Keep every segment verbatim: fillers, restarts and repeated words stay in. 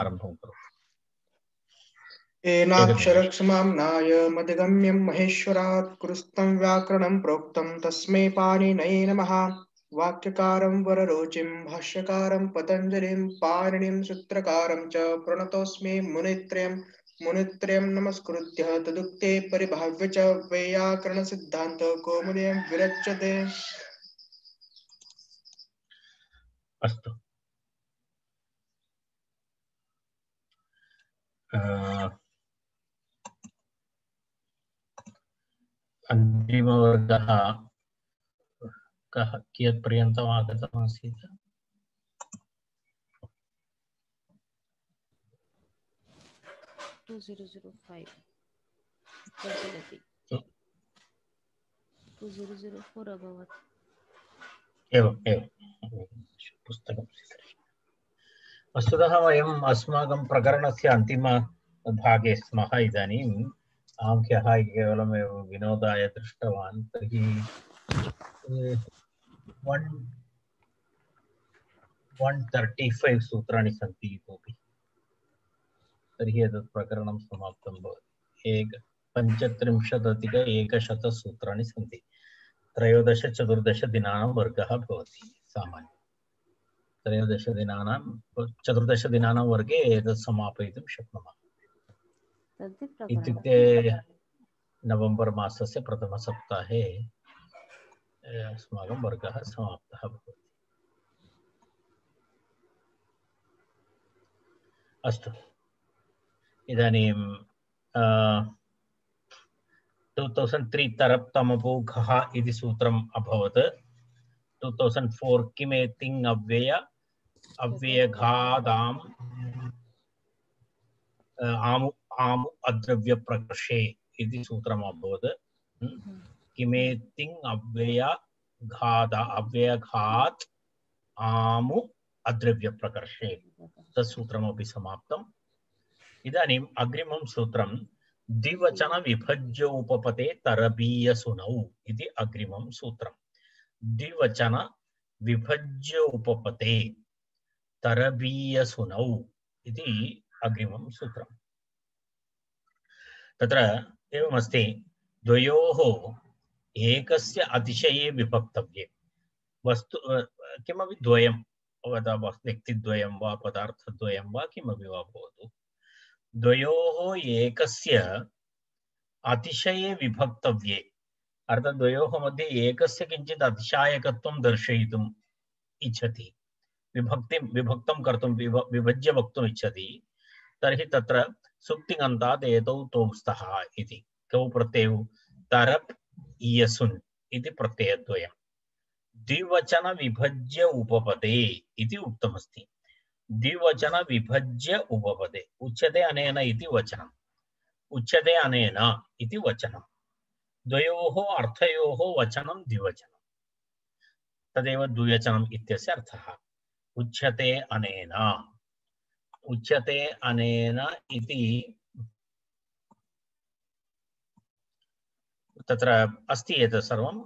आरम्भं करोतु। एनाक्षरक्षमाम्नाय मधिगम्यं महेश्वरात् कृस्तं व्याकरणं प्रोक्तं तस्मै पाणिनये नमः। वाक्यकारं वररुचिं भाष्यकारं पतञ्जलिं पाणिनिं सूत्रकारं च प्रणतोऽस्मि मुनित्रयं मुनित्रयं नमस्कृत्य तदुक्ते परिभाव्य च वैयाकरणसिद्धान्त कौमुदीं विरच्यते। अस्तु, अन्तिमवर्गः कः कियत् पर्यन्तम् आगतमासीत्? टू ज़ीरो ज़ीरो फाइव प्रचलति, टू ज़ीरो ज़ीरो फोर अभवत्। एवम् एवं पुस्तकं वस्तुतः वयम् अस्माकं प्रकरणस्य अन्तिमभागे स्मः इदानीम्। अहं ह्यः केवलमेव विनोदाय दृष्टवान्। तर्हि वन् वन् तर्टि फैव् सूत्राणि सन्ति इतोपि। तर्हि एतत् प्रकरणं समाप्तं भवति। एक पञ्चत्रिंशदधिक एकशतसूत्राणि सन्ति। त्रयोदश चतुर्दश दिनानां वर्गः भवति सामान्यं। त्रयोदश दिनानां चतुर्दश दिनानां वर्गे एतत् समापयितुं शक्नुमः। इत्युक्ते नवम्बर् मासस्य प्रथमसप्ताहे अस्माकं वर्गः समाप्तः भवति। अस्तु, इदानीं टु तौसण्ड् त्री तरप्तमपूघः इति सूत्रम् अभवत्। टु तौसण्ड् फोर् किमेतिङ् अव्यय अव्ययघादाम् आमु आमु अद्रव्यप्रकर्षे इति सूत्रम् अभवत्। किमेतिङ् अव्ययघाद अव्ययघात् आमु अद्रव्यप्रकर्षे तत् सूत्रमपि समाप्तम्। इदानीम् अग्रिमं सूत्रं द्विवचन विभज्य उपपते तरबीयसुनौ इति अग्रिमं सूत्रम्। द्विवचन विभज्य उपपते तरबीयसुनौ इति अग्रिमं सूत्रम्। तत्र एवमस्ति, द्वयोः एकस्य अतिशये विभक्तव्ये वस्तु किमपि द्वयं वदा व्यक्तिद्वयं वा पदार्थद्वयं वा किमपि वा भवतु, द्वयोः एकस्य अतिशये विभक्तव्ये अर्थात् द्वयोः मध्ये एकस्य किञ्चित् अतिशायकत्वं दर्शयितुम् इच्छति, विभक्तिं विभक्तं कर्तुं विभ विभज्य वक्तुम् इच्छति, तर्हि तत्र सुप्तिङन्तात् एतौ तौ स्तः इति कौ प्रत्ययौ तरप् इयसुन् इति प्रत्ययद्वयम्। द्विवचन विभज्य उपपदे इति उक्तमस्ति। द्विवचन विभज्य उपपदे उच्यते अनेन इति वचनम्, उच्यते अनेन इति वचनम्, द्वयोः अर्थयोः वचनं द्विवचनं, तदेव द्विवचनम् इत्यस्य अर्थः। उच्यते अनेन, उच्यते अनेन इति तत्र अस्ति एतत् सर्वं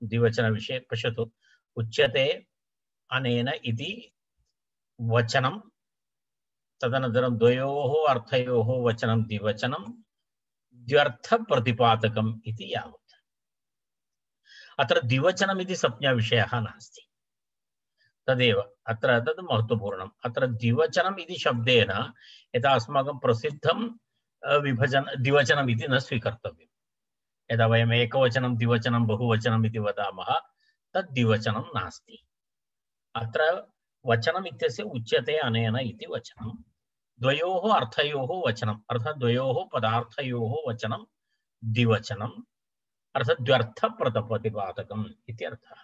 द्विवचनविषये पश्यतु। उच्यते अनेन इति वचनं, तदनन्तरं द्वयोः अर्थयोः वचनं द्विवचनं, द्व्यर्थप्रतिपादकम् इति यावत्। अत्र द्विवचनम् इति संज्ञाविषयः नास्ति, तदेव अत्र तद् महत्त्वपूर्णम्। अत्र द्विवचनम् इति शब्देन यथा अस्माकं प्रसिद्धं विभजन द्विवचनम् इति न स्वीकर्तव्यम्। यदा वयम् एकवचनं द्विवचनं बहुवचनम् इति वदामः तद् द्विवचनं नास्ति। अत्र वचनम् इत्यस्य उच्यते अनेन इति वचनं, द्वयोः अर्थयोः वचनम् अर्थात् द्वयोः पदार्थयोः वचनं द्विवचनम् अर्थात् द्व्यर्थप्रतिपादकम् इति अर्थः।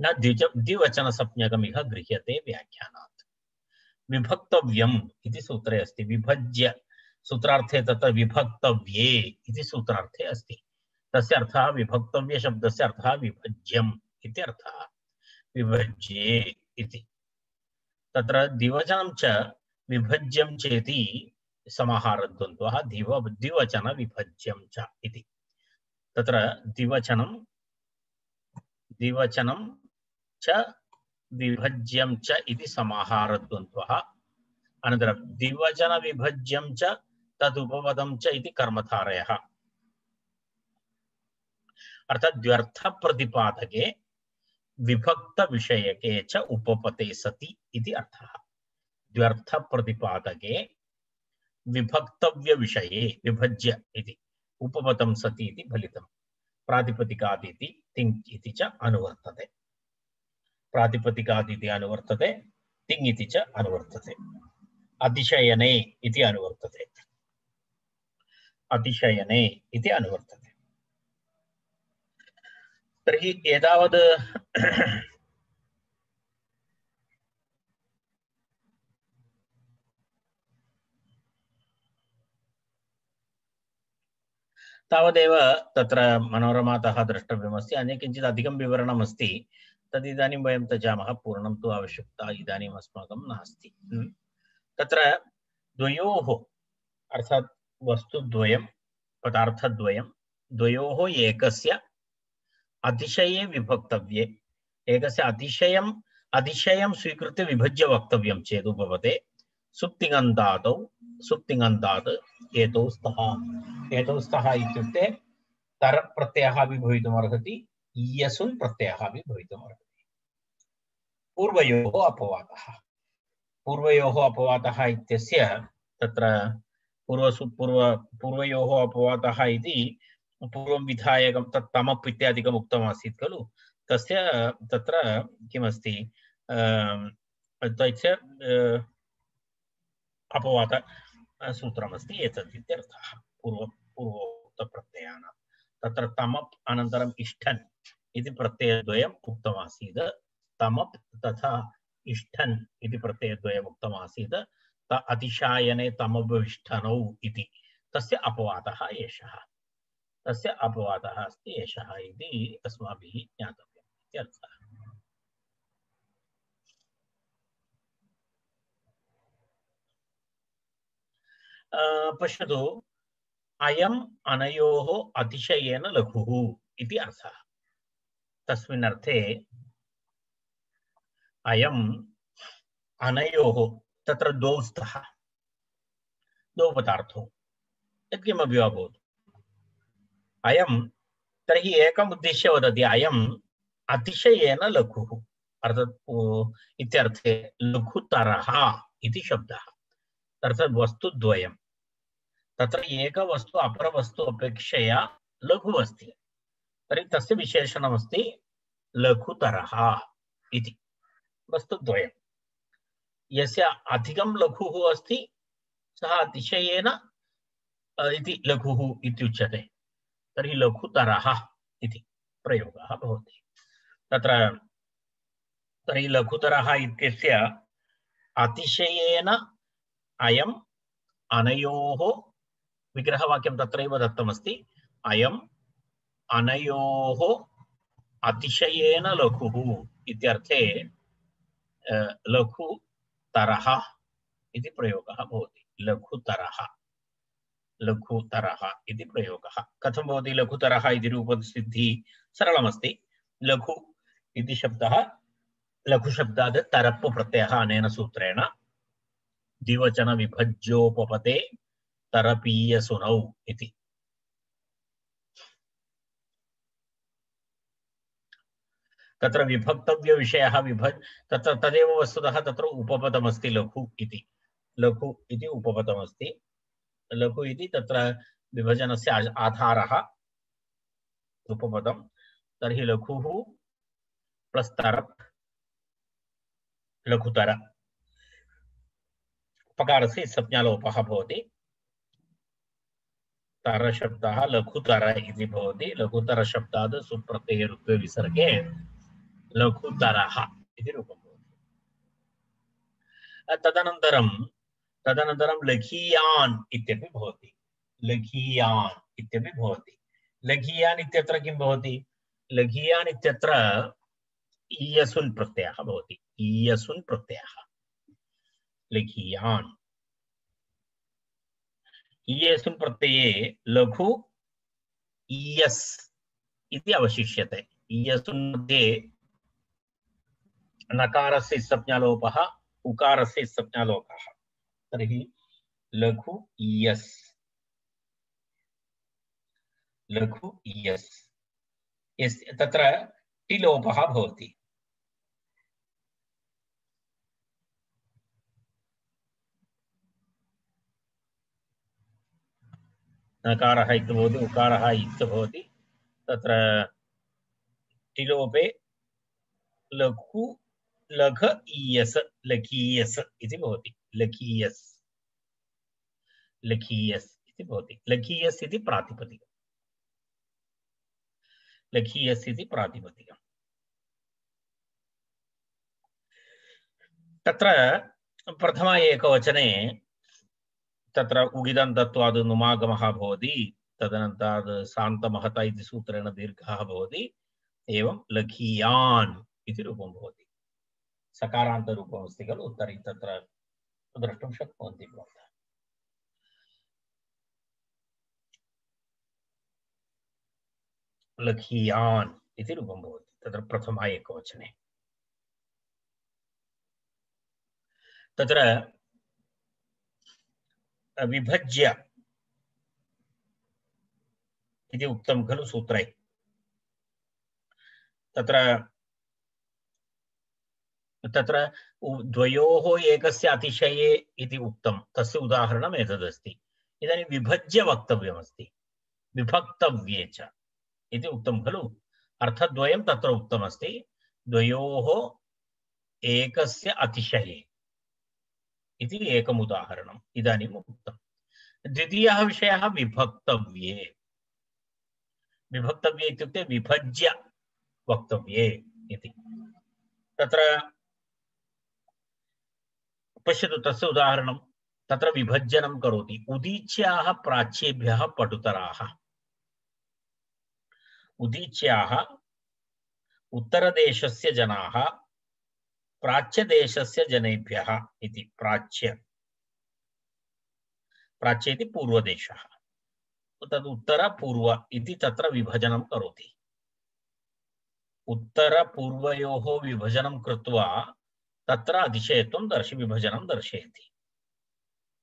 न द्विज द्विवचनसंज्ञकम् इह गृह्यते व्याख्यानात्। विभक्तव्यम् इति सूत्रे अस्ति, विभज्य सूत्रार्थे तत्र विभक्तव्ये इति सूत्रार्थे अस्ति। तस्य अर्थः विभक्तव्य शब्दस्य अर्थः विभज्यम् इति अर्थः, विभज्ये इति। तत्र द्विवचनं च विभज्यं चेति समाहारद्वन्द्वः द्विव द्विवचन विभज्यं च इति। तत्र द्विवचनं द्विवचनं च विभज्यं च इति समाहारद्वन्द्वः अनन्तरं द्विवचनविभज्यं च तदुपपदं च इति कर्मधारयः अर्थात् द्व्यर्थप्रतिपादके विभक्तविषयके च उपपते सति इति अर्थः द्व्यर्थप्रतिपादके विभक्तव्यविषये विभज्य इति उपपदं सति इति फलितं प्रातिपदिकादिति तिङ् इति च अनुवर्तते प्रातिपदिकादिति अनुवर्तते तिङ् इति च अनुवर्तते अतिशयने इति अनुवर्तते अतिशयने इति अनुवर्तते तर्हि एतावद् तावदेव तत्र मनोरमातः द्रष्टव्यमस्ति अन्य किञ्चित् अधिकं विवरणम् अस्ति तदिदानीं वयं त्यजामः पूर्णं तु आवश्यकता इदानीम् अस्माकं नास्ति तत्र द्वयोः अर्थात् वस्तुद्वयं पदार्थद्वयं द्वयोः एकस्य अतिशये विभक्तव्ये एकस्य अतिशयम् अतिशयं स्वीकृत्य विभज्य वक्तव्यं चेत् उपपदे सुप्तिङन्तादौ सुप्तिङन्तात् एतौ स्तः एतौ स्तः इत्युक्ते तरप्रत्ययः अपि भवितुमर्हति इयसुन् प्रत्ययः अपि भवितुमर्हति पूर्वयोः अपवादः पूर्वयोः अपवादः इत्यस्य तत्र पूर्वसु पूर्व पूर्वयोः अपवादः इति पूर्वं विधायकं तत् तमप् इत्यादिकम् उक्तमासीत् खलु तस्य तत्र किमस्ति तस्य अपवाद सूत्रमस्ति एतत् इत्यर्थः पूर्व पूर्वोक्तप्रत्ययानां तत्र तमप् अनन्तरम् इष्ठन् इति प्रत्ययद्वयम् उक्तमासीत् तमप् तथा इष्ठन् इति प्रत्ययद्वयम् उक्तमासीत् त अतिशायने तमभिष्ठनौ इति तस्य अपवादः एषः तस्य अपवादः अस्ति एषः इति अस्माभिः ज्ञातव्यम् इत्यर्थः पश्यतु अयम् अनयोः अतिशयेन लघुः इति अर्थः तस्मिन् अर्थे अयम् अनयोः तत्र द्वौ स्तः द्वौ पदार्थौ यत्किमपि वा भवतु अयं तर्हि एकम् उद्दिश्य वदति अयम् अतिशयेन लघुः अर्थात् इत्यर्थे लघुतरः इति शब्दः अर्थात् वस्तुद्वयं तत्र एकवस्तु अपरवस्तु अपेक्षया लघु अस्ति तर्हि तस्य विशेषणमस्ति लघुतरः इति वस्तुद्वयं यस्य अधिकं लघुः अस्ति सः अतिशयेन इति लघुः इत्युच्यते तर्हि लघुतरः इति प्रयोगः भवति तत्र तर्हि लघुतरः इत्यस्य अतिशयेन अयम् अनयोः विग्रहवाक्यं तत्रैव दत्तमस्ति अयम् अनयोः अतिशयेन लघुः इत्यर्थे लघुतरः इति प्रयोगः भवति लघुतरः लघुतरः इति प्रयोगः कथं भवति लघुतरः इति रूपसिद्धिः सरलमस्ति लघु इति शब्दः लघुशब्दात् तरप् प्रत्ययः अनेन सूत्रेण द्विवचन विभज्योपपते तरपीयसुनौ इति तत्र विभक्तव्य विषयः विभज तत्र तदेव वस्तुतः तत्र उपपदमस्ति लघु इति लघु इति उपपदमस्ति लघु इति तत्र विभजनस्य आधारः उपपदं तर्हि लघुः प्लस् तरप् लघुतर पकारस्य संज्ञालोपः भवति तरशब्दः लघुतर इति भवति लघुतर शब्दात् सुप्रत्ययरुत्वे विसर्गे लघुतरः इति रूपं भवति तदनन्तरं तदनन्तरं लघीयान् इत्यपि भवति लघीयान् इत्यपि भवति लघीयान् इत्यत्र किं भवति लघीयान् इत्यत्र ईयसुन् प्रत्ययः भवति ईयसुन् प्रत्ययः लघीयान् ईयसुन् प्रत्यये लघु ईयस् इति अवशिष्यते ईयसुन् मध्ये नकारस्य संज्ञालोपः उकारस्य संज्ञालोपः तर्हि लघु इयस् लघु इयस् यस् तत्र टिलोपः भवति। नकारः इति भवति उकारः इति भवति तत्र टिलोपे लघु लघ इयस् लघीयस् इति भवति। लघीयस् लघीयस् इति भवति। लघीयस् इति प्रातिपदिकम् लघीयस् इति प्रातिपदिकम्। तत्र प्रथम एकवचने तत्र उगिदन्तत्वाद् नुमागमः भवति तदनन्तरात् सान्तमहत इति सूत्रेण दीर्घः भवति एवं लघीयान् इति रूपं भवति। सकारान्तरूपम् अस्ति खलु तर्हि तत्र द्रष्टुं शक्नुवन्ति भवन्तः। लघीयान् इति रूपं भवति तत्र प्रथम एकवचने। तत्र विभज्य इति उक्तं खलु सूत्रे। तत्र तत्र द्वयोः एकस्य अतिशये इति उक्तं तस्य उदाहरणम् एतदस्ति। इदानीं विभज्य वक्तव्यमस्ति विभक्तव्ये च इति उक्तं खलु। अर्थद्वयं तत्र उक्तमस्ति द्वयोः एकस्य अतिशये इति एकम् उदाहरणम् इदानीम् उक्तं। द्वितीयः विषयः विभक्तव्ये। विभक्तव्ये इत्युक्ते विभज्य वक्तव्ये इति। तत्र पश्यतु तस्य उदाहरणं। तत्र विभजनं करोति। उदीच्याः प्राच्येभ्यः पटुतराः। उदीच्याः उत्तरदेशस्य जनाः प्राच्यदेशस्य जनेभ्यः इति। प्राच्य प्राच्य इति पूर्वदेशः तद् उत्तर पूर्व इति तत्र विभजनं करोति। उत्तर पूर्वयोः विभजनं कृत्वा तत्र अतिशयत्वं दर्श विभजनं दर्शयति।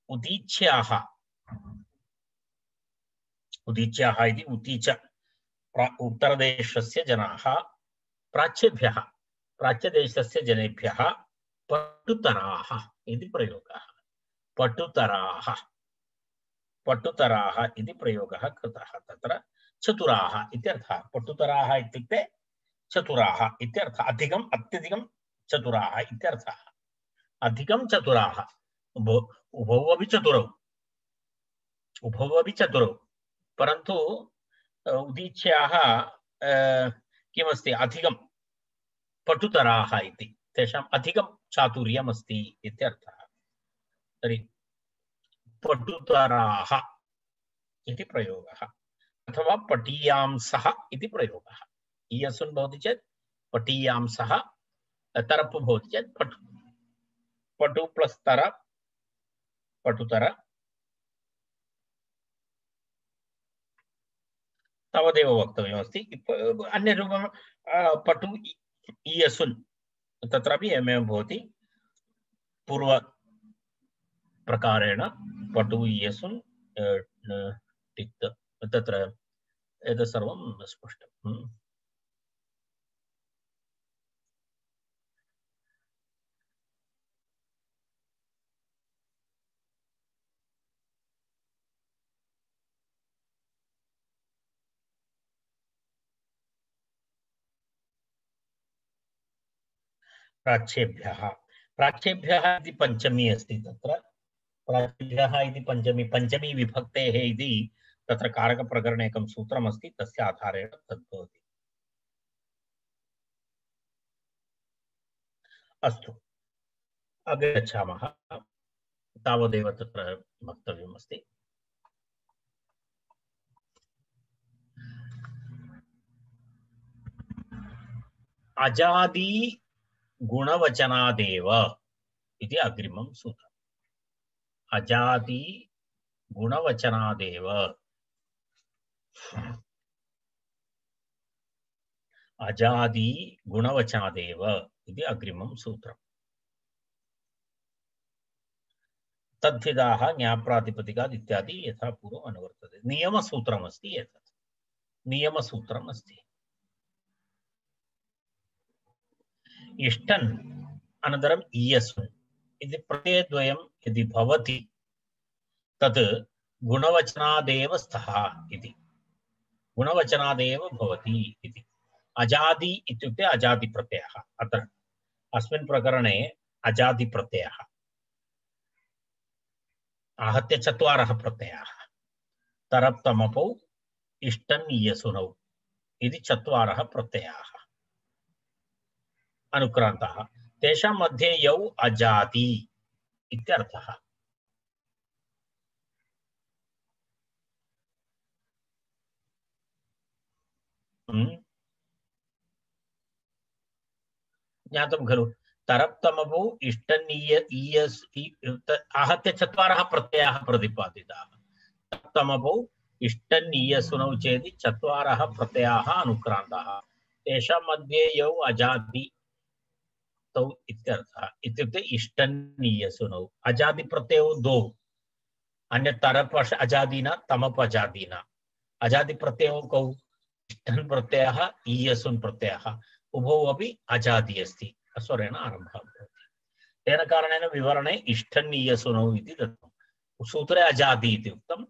उदीच्याः उदीच्याः इति उदीच उत्तरदेशस्य जनाः प्राच्येभ्यः प्राच्यदेशस्य जनेभ्यः पटुतराः इति प्रयोगः। पटुतराः पटुतराः इति प्रयोगः कृतः। तत्र चतुराः इत्यर्थः। पटुतराः इत्युक्ते चतुराः इत्यर्थः। अधिकम् अत्यधिकं चतुराः इत्यर्थः। अधिकं चतुराः उभौ अपि चतुरौ उभौ अपि चतुरौ परन्तु उदीच्याः किमस्ति अधिकं पटुतराः इति तेषाम् अधिकं चातुर्यम् अस्ति इत्यर्थः। तर्हि पटुतराः इति प्रयोगः अथवा पटीयांसः इति प्रयोगः। इयसुन् भवति चेत् पटीयांसः तरप् भवति चेत् पटु पटु प्लस् तर पटुतर तावदेव वक्तव्यमस्ति। अन्यरूपं पटु इयसुन् तत्रापि एवमेव भवति। पूर्व प्रकारेण पटु इयसुन् टिक् तत्र एतत् सर्वं स्पष्टम्। प्राच्येभ्यः प्राच्येभ्यः इति पञ्चमी अस्ति। तत्र प्राच्येभ्यः इति पञ्चमी पञ्चमी विभक्तेः इति तत्र कारकप्रकरणे एकं सूत्रमस्ति तस्य आधारेण तद् भवति। अस्तु अग्रे गच्छामः। तावदेव तत्र वक्तव्यमस्ति। अजादि गुणवचनादेव इति अग्रिमं सूत्रम्। अजादि गुणवचनादेव अजादि गुणवचनादेव इति अग्रिमं सूत्रम्। तद्धिताः ज्ञाप्रातिपदिकात् इत्यादि यथा पूर्वम् अनुवर्तते। नियमसूत्रमस्ति एतत्, नियमसूत्रम् अस्ति। इष्टन् अनन्तरम् इयस्मिन् इति प्रत्ययद्वयं यदि भवति तत् गुणवचनादेव स्तः इति, गुणवचनादेव भवति इति। अजादि इत्युक्ते अजादिप्रत्ययः। अत्र अस्मिन् प्रकरणे अजादिप्रत्ययः आहत्य चत्वारः प्रत्ययाः। तरप्तमपौ इष्टन् इयसुनौ इति चत्वारः प्रत्ययाः अनुक्रान्ताः। तेषां मध्ये यौ अजाति इत्यर्थः। ज्ञातं खलु? तरप्तमपौ इष्टन् इयस् आहत्य चत्वारः प्रत्ययाः प्रतिपादिताः। तरप्तमपौ इष्टन् इयसुनौ चेति चत्वारः प्रत्ययाः अनुक्रान्ताः। तेषां मध्ये यौ अजाति तौ इत्यर्थः। इत्युक्ते इष्टन् इयसुनौ अजादिप्रत्ययौ द्वौ, अन्यत् तरप् अजादीना तमप् अजादीना। अजादिप्रत्ययौ कौ? इष्टन् प्रत्ययः इयसुन् प्रत्ययः, उभौ अपि अजादि अस्ति, स्वरेण आरम्भः भवति। तेन कारणेन विवरणे इष्टन् इयसुनौ इति दत्तं। सूत्रे अजादि इति उक्तं,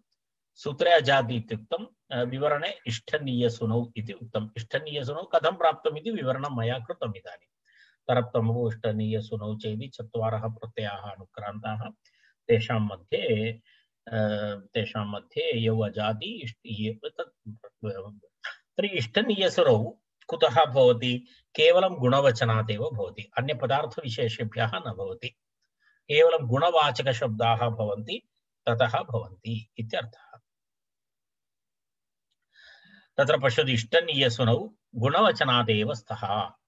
सूत्रे अजादि इत्युक्तं, विवरणे इष्टन् इयसुनौ इति उक्तम्। इष्टन् इयसुनौ कथं प्राप्तम् इति विवरणं मया कृतम् इदानीं। तरप्तमौ इष्टन् इयसुनौ चेति चत्वारः प्रत्ययाः अनुक्रान्ताः। तेषां मध्ये तेषां मध्ये यौ अजादि तर्हि इष्टन् इयसुनौ कुतः भवति? केवलं गुणवचनादेव भवति, अन्य पदार्थविशेषेभ्यः न भवति। केवलं गुणवाचकशब्दाः भवन्ति, ततः भवन्ति इत्यर्थः। तत्र पश्यतु, इष्टन् इयसुनौ गुणवचनादेव स्तः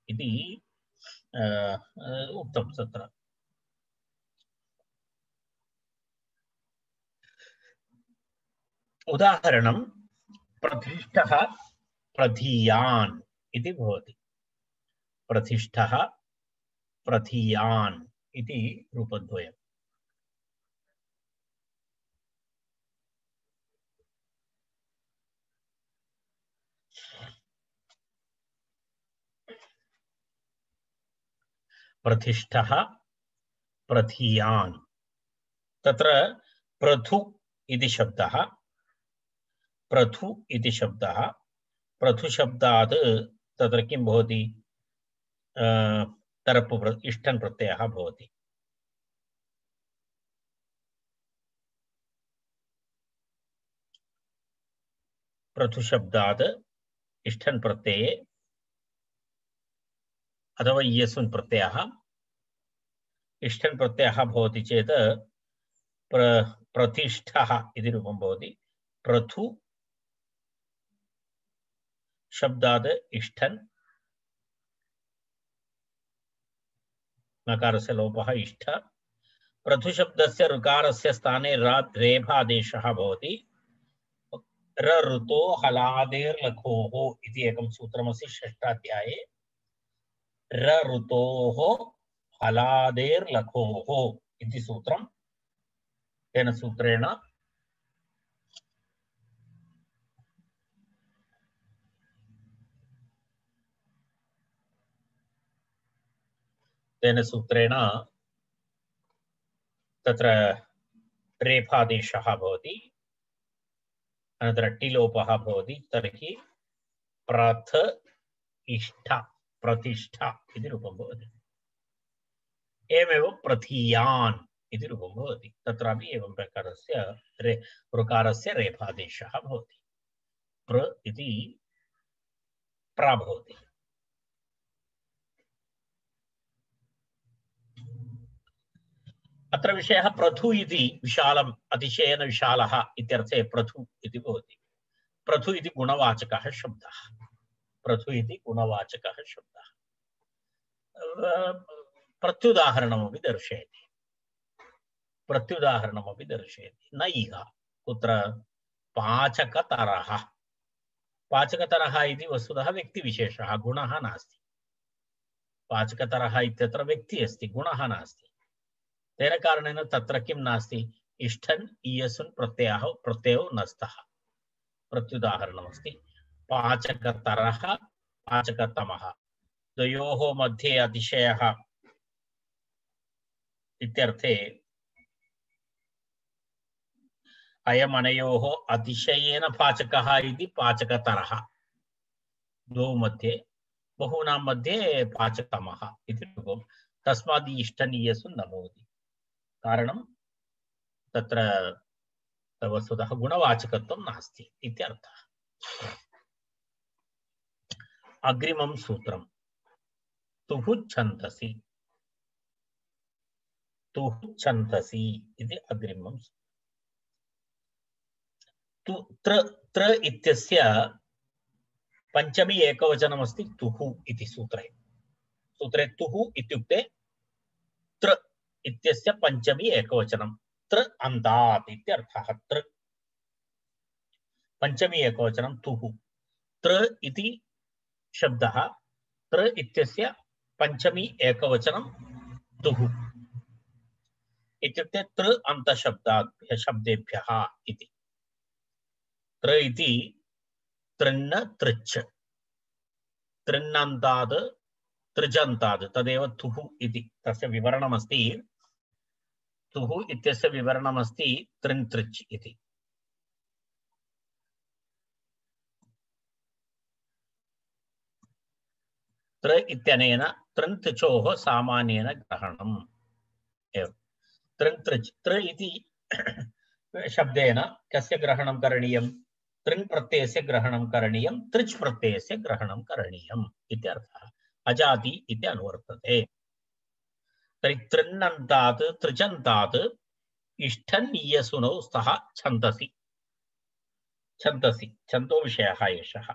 इति उक्तं तत्र। उदाहरणं प्रतिष्ठः प्रधीयान् इति भवति। प्रतिष्ठः प्रधीयान् इति रूपद्वयम्। प्रतिष्ठः प्रधीयान्, तत्र प्रथु इति शब्दः, प्रथु इति शब्दः, प्रथु शब्दात् तत्र किं भवति? तरप् इष्टन् प्रत्ययः भवति। प्रथु शब्दात् इष्टन् प्रत्यये अथवा इयसुन् प्रत्ययः, इष्टन् प्रत्ययः भवति चेत् प्र प्रतिष्ठः इति रूपं भवति। प्रथु शब्दात् इष्टन्, नकारस्य लोपः इष्ठ, प्रथु शब्दस्य ऋकारस्य स्थाने रेफादेशः भवति। र ऋतो हलादेर्लघोः इति एकं सूत्रमस्ति षष्ठाध्याये। र ऋतोः हलादेर्लघोः इति सूत्रं। तेन सूत्रेण तेन सूत्रेण तत्र रेफादेशः भवति, अनन्तरं टिलोपः भवति। तर्हि प्रथ इष्ठ प्रतिष्ठा इति रूपं भवति। एवमेव प्रथीयान् इति रूपं भवति। तत्रापि एवं प्रकारस्य रे ऋकारस्य रेफादेशः भवति। प्र इति प्रा भवति। अत्र विषयः प्रथु इति विशालम्, अतिशयेन विशालः इत्यर्थे प्रथु इति भवति। प्रथु इति गुणवाचकः शब्दः। प्रथु इति गुणवाचकः शब्दः। प्रत्युदाहरणमपि दर्शयति, प्रत्युदाहरणमपि दर्शयति। न इह कुत्र पाचकतरः। पाचकतरः इति वस्तुतः व्यक्तिविशेषः, गुणः नास्ति। पाचकतरः इत्यत्र व्यक्तिः अस्ति, गुणः नास्ति। तेन कारणेन तत्र किं नास्ति इष्ठन् इयसुन् प्रत्ययः प्रत्ययो न स्तः प्रत्युदाहरणमस्ति पाचकतरः पाचकतमः द्वयोः मध्ये अतिशयः इत्यर्थे अयमनयोः अतिशयेन पाचकः इति पाचकतरः द्वौ मध्ये बहूनां मध्ये पाचकतमः इति रूपं तस्मात् इष्ठन् इयसुन् न भवति कारणं तत्र वस्तुतः गुणवाचकत्वं नास्ति इत्यर्थः अग्रिमं सूत्रं तुः छन्दसि तुः छन्दसि इति अग्रिमं तु त्र त्र इत्यस्य पंचमी एकवचनमस्ति तुः इति सूत्रे सूत्रे तुः इत्युक्ते त्र इत्यस्य पंचमी एकवचनं त्र अन्तात् इत्यर्थः त्र पंचमी एकवचनं तुः त्र इति शब्दः त्र इत्यस्य पंचमी एकवचनं तुः इत्युक्ते त्र अन्तशब्दाभ्यः शब्देभ्यः इति त्र इति त्रिन्न तृच्छ त्रिन्नन्तात् त्रिजन्तात् तदेव तुः इति तस्य विवरणमस्ति तुः इत्यस्य विवरणमस्ति त्रिन् तृच् इति त्र इत्यनेन त्रिन् तृचोः सामान्येन ग्रहणम् एव त्रिन् तृच् त्र इति शब्देन कस्य ग्रहणं करणीयं त्रिन् प्रत्ययस्य ग्रहणं करणीयं तृच् प्रत्ययस्य ग्रहणं करणीयम् इत्यर्थः अजाति इति अनुवर्तते तर्हि त्रिन्नन्तात् त्रिजन्तात् इष्ठन् इयसुनौ स्तः छन्दसि छन्दसि छन्दो विषयः एषः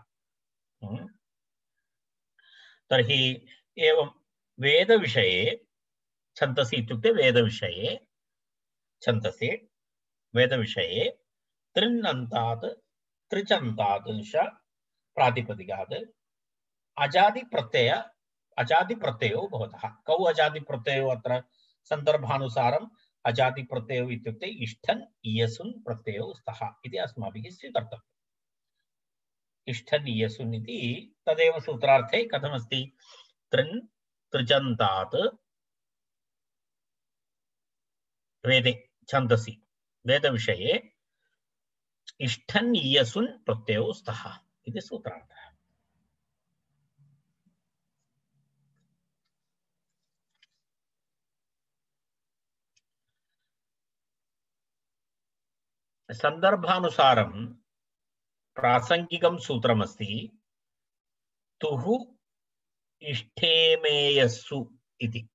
तर्हि एवं वेदविषये छन्दसि इत्युक्ते वेदविषये छन्दसि वेदविषये त्रिन्नन्तात् त्रिजन्तात् च प्रातिपदिकात् अजादि प्रत्यय अजादि प्रत्ययो भवतः कौ अजादि प्रत्ययो अत्र सन्दर्भानुसारम् अजादि प्रत्ययो इत्युक्ते इष्ठन् इयसुन् प्रत्ययो स्तः इति अस्माभिः स्वीकर्तव्यम् इष्ठन् इयसुन् इति तदेव सूत्रार्थे कथमस्ति त्रिन् त्रिजन्तात् वेदे छन्दसि वेदविषये इष्ठन् इयसुन् प्रत्ययो स्तः इति सूत्रार्थः संदर्भानुसारं प्रासंगिकं सूत्रमस्ति तुः इष्ठेमेयस्सु इति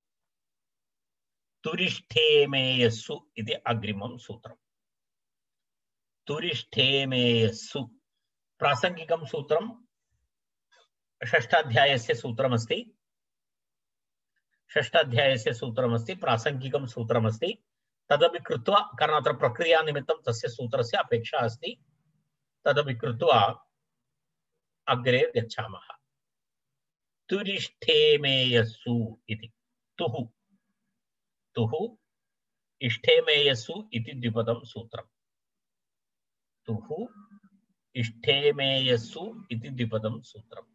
तुरिष्ठेमेयस्सु इति अग्रिमं सूत्रम् तुरिष्ठेमेयस्सु प्रासंगिकं सूत्रं षष्ठाध्यायस्य सूत्रमस्ति षष्ठाध्यायस्य सूत्रमस्ति प्रासंगिकं सूत्रमस्ति तदपि कृत्वा कारण अत्र प्रक्रिया निमित्तं तस्य सूत्रस्य अपेक्षा अस्ति तदपि कृत्वा अग्रे गच्छामः तुरिष्ठेमेयस्सु इति तुः तुः इष्ठेमेयस्सु इति द्विपदं सूत्रम् तुः इष्ठेमेयस्सु इति द्विपदं सूत्रम्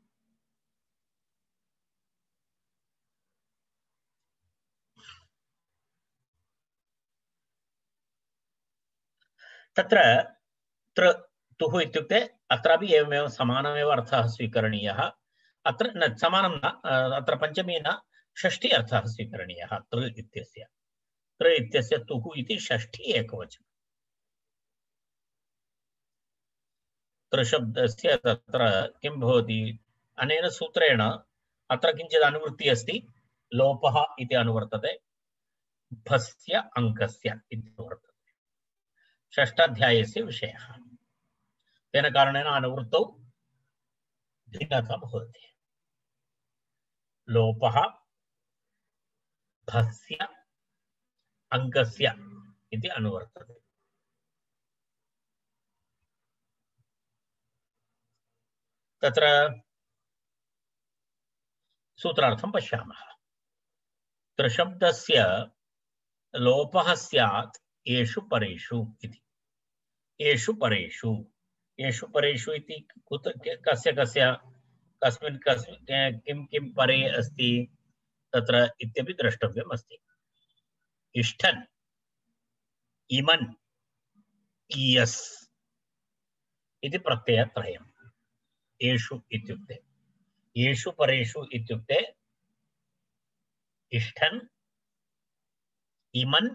तत्र त्र तुः इत्युक्ते अत्रापि एवमेव समानमेव अर्थः स्वीकरणीयः अत्र न समानं न अत्र पञ्चमी न षष्ठी अर्थः स्वीकरणीयः तृ इत्यस्य तृ इत्यस्य तुः इति षष्ठी एकवचनं तृशब्दस्य तत्र किं भवति अनेन सूत्रेण अत्र किञ्चित् अनुवृत्तिः अस्ति लोपः इति अनुवर्तते भस्य अङ्कस्य इति वर्तते षष्ठाध्यायस्य विषयः तेन कारणेन अनुवृत्तौ भिन्नता भवति लोपः भस्य अङ्कस्य इति अनुवर्तते तत्र सूत्रार्थं पश्यामः त्रिशब्दस्य लोपः स्यात् येषु परेषु इति। येषु परेषु येषु परेषु इति कुत कस्य कस्य कस्मिन् कस्मिन् किं किं परे अस्ति तत्र इत्यपि द्रष्टव्यम् अस्ति। इष्ठन्, इमन्, इयस् इति प्रत्ययत्रयम्। येषु इत्युक्ते येषु परेषु इत्युक्ते इष्ठन्, इमन्,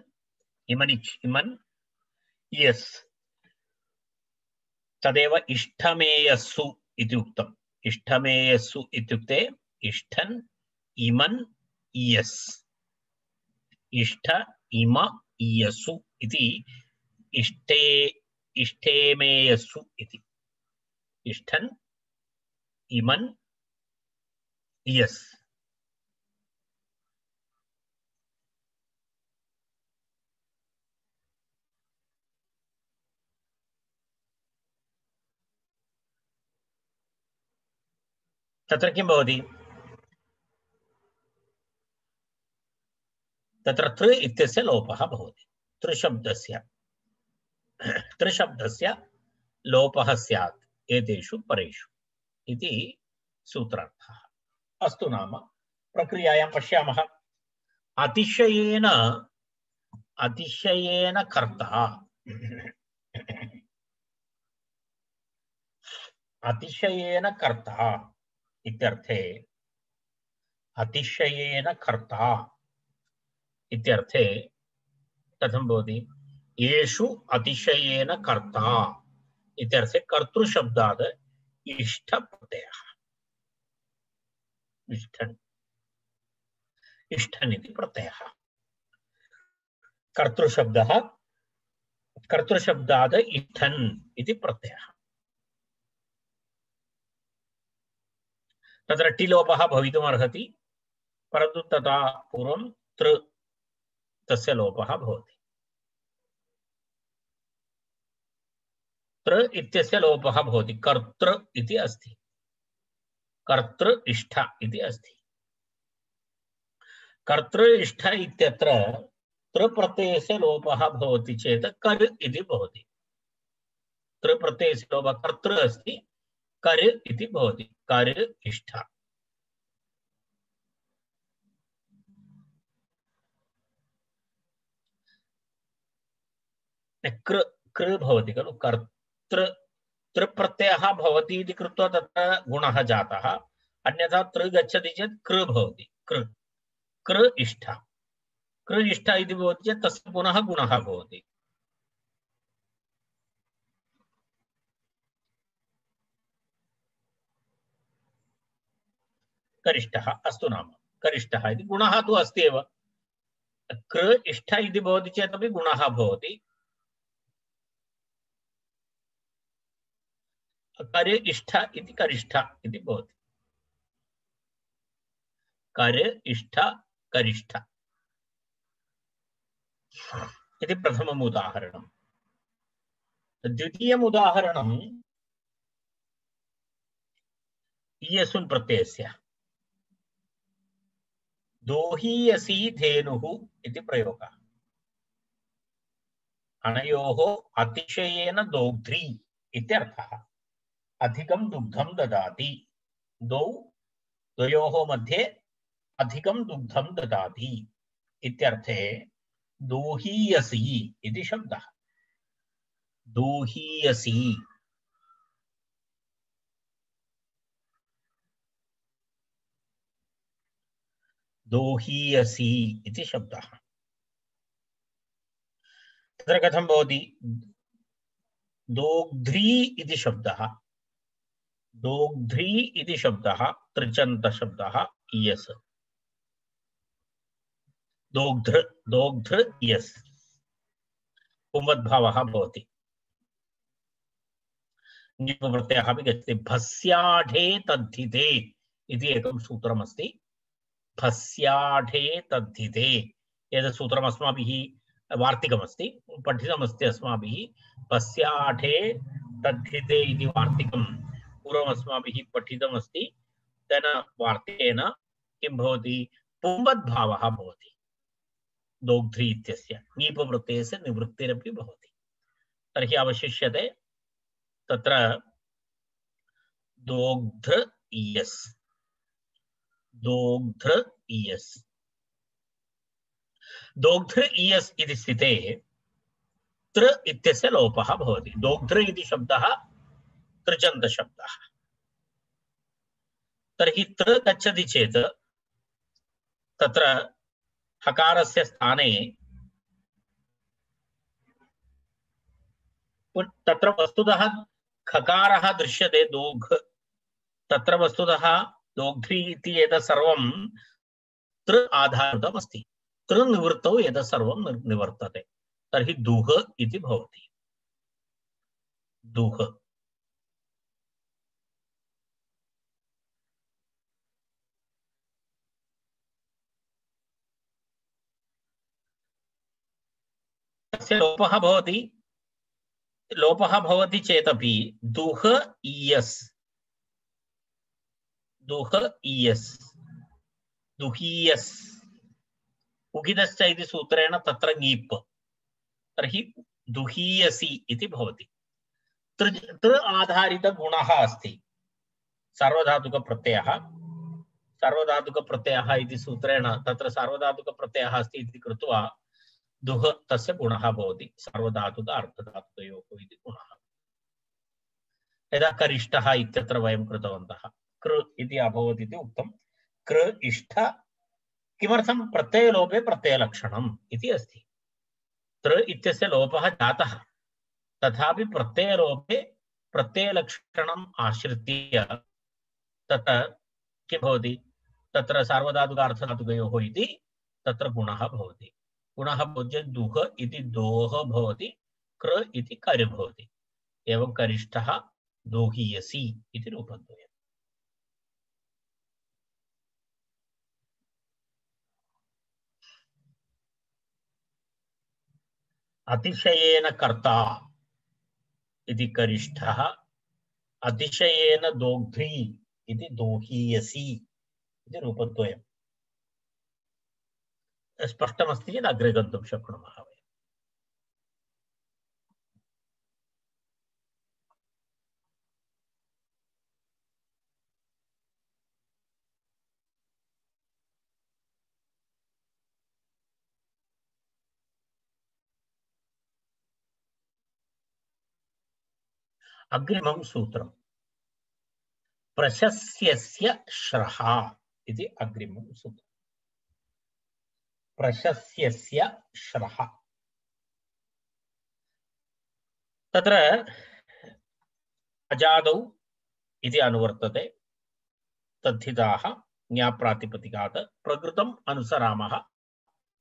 इमनिच् इमन्, इयस्। तदेव इष्टमेयस्सु इति उक्तम्। इष्टमेयस्सु इत्युक्ते इष्ठन्, इमन्, इयस्। इष्ट, इम, इयसु इति इष्टे इष्टेमेयस्सु इति। इष्ठन्, इमन्, इयस्। तत्र किं भवति? तत्र तृ इत्यस्य लोपः भवति। तृशब्दस्य तृशब्दस्य लोपः स्यात् एतेषु परेषु इति सूत्रार्थः। अस्तु, नाम प्रक्रियायां पश्यामः। अतिशयेन अतिशयेन कर्ता अतिशयेन कर्ता इत्यर्थे अतिशयेन कर्ता इत्यर्थे कथं भवति? येषु अतिशयेन कर्ता इत्यर्थे कर्तृशब्दात् इष्ठ प्रत्ययः। इष्ठन् इष्ठन् इति प्रत्ययः। कर्तृशब्दः कर्तृशब्दात् इष्ठन् इति प्रत्ययः। तत्र टिलोपः भवितुम् अर्हति, परन्तु तदा पूर्वं तृ तस्य लोपः भवति। तृ इत्यस्य लोपः भवति। कर्तृ इति अस्ति, कर्तृ इष्ठ इति अस्ति। कर्तृ इष्ठ इत्यत्र तृ प्रत्ययस्य लोपः भवति चेत् कर् इति भवति। तृ प्रत्ययस्य लोपः कर्तृ अस्ति, कर् इति भवति। कर् इष्ठ। कृ कृ भवति खलु। कर्तृ तृ प्रत्ययः भवति इति कृत्वा तत्र गुणः जातः। अन्यथा तृ गच्छति चेत् कृ भवति। कृ कृ इष्ठ कृ इष्ठ इति भवति चेत् तस्य पुनः गुणः भवति। करिष्ठः। अस्तु, नाम करिष्ठः इति गुणः तु अस्ति एव। कृ इष्ठ इति भवति चेत् अपि गुणः भवति। कर् इष्ठ इति करिष्ठ इति भवति। कर् इष्ठ करिष्ठ इति प्रथमम् उदाहरणम्। द्वितीयम् उदाहरणम् इयसुन् प्रत्ययस्य। दोहीयसी धेनुः इति प्रयोगः। अनयोः अतिशयेन दोग्ध्री इत्यर्थः। अधिकं दुग्धं ददाति। द्वौ द्वयोः मध्ये अधिकं दुग्धं ददाति इत्यर्थे दोहीयसी इति शब्दः। दोहीयसी दोहीयसी इति शब्दः। तत्र कथं भवति? दोग्ध्री इति शब्दः। दोग्ध्री इति शब्दः त्रिचन्त शब्दः। इयस् दोग्ध्र दोग्ध्र इयस् पुंवद्भावः भवति। ङिप् प्रत्ययः अपि गच्छति। भस्याढे तद्धिते इति एकं सूत्रमस्ति। भस्याढे तद्धिते एतत् सूत्रम् अस्माभिः वार्तिकमस्ति, पठितमस्ति अस्माभिः। भस्याढे तद्धिते इति वार्तिकं पूर्वम् अस्माभिः पठितमस्ति। तेन वार्तिकेन किं भवति? पुंवद्भावः भवति। दोग्ध्रि इत्यस्य ङीप प्रत्ययस्य निवृत्तिरपि भवति। तर्हि अवशिष्यते तत्र दोग्ध्र इयस् दोग्ध्र इयस् दोग्ध्र इयस् इति स्थिते त्र इत्यस्य लोपः भवति। दोग्ध्र इति शब्दः तृचन्तशब्दः। तर्हि त्र गच्छति चेत् तत्र हकारस्य स्थाने तत्र वस्तुतः खकारः दृश्यते दोघ तत्र वस्तुतः दोग्ध्रि इति एतत् सर्वं त्र आधारितम् अस्ति। त्र निवृत्तौ एतत् सर्वं निवर्तते। तर्हि दुह इति भवति। दुह तस्य लोपः भवति। लोपः भवति चेदपि दुह इयस् दुह इयस् दुहीयस् उगिदश्च इति सूत्रेण तत्र ङीप् तर्हि दुहीयसि इति भवति। त्र आधारित गुणः अस्ति सार्वधातुक प्रत्ययः। सार्वधातुक प्रत्ययः इति सूत्रेण तत्र सार्वधातुक प्रत्ययः अस्ति इति कृत्वा दुह तस्य गुणः भवति। सार्वधातुक अर्धधातुकयोः इति गुणः। यदा करिष्ठः इत्यत्र वयं कृतवन्तः कृ इति अभवत् इति उक्तं। कृ इष्ठ किमर्थं प्रत्ययलोपे प्रत्ययलक्षणम् इति अस्ति। त्र इत्यस्य लोपः जातः तथापि प्रत्ययलोपे प्रत्ययलक्षणम् आश्रित्य तत्र किं भवति तत्र सार्वधातुक अर्थधातुकयोः इति तत्र गुणः भवति। गुणः भवति दुह इति दोह भवति कृ इति कर् भवति। एवं करिष्ठः दोहीयसि इति रूपद्वयम्। अतिशयेन कर्ता इति करिष्ठः अतिशयेन दोग्ध्रि इति दोहीयसि इति रूपद्वयम्। स्पष्टमस्ति चेत् अग्रे गन्तुं शक्नुमः वयम्। अग्रिमं सूत्रं प्रशस्यस्य श्रः इति अग्रिमं सूत्रम्। प्रशस्यस्य श्रः तत्र अजादौ इति अनुवर्तते। तद्धिताः ज्ञाप्रातिपदिकात् प्रकृतम् अनुसरामः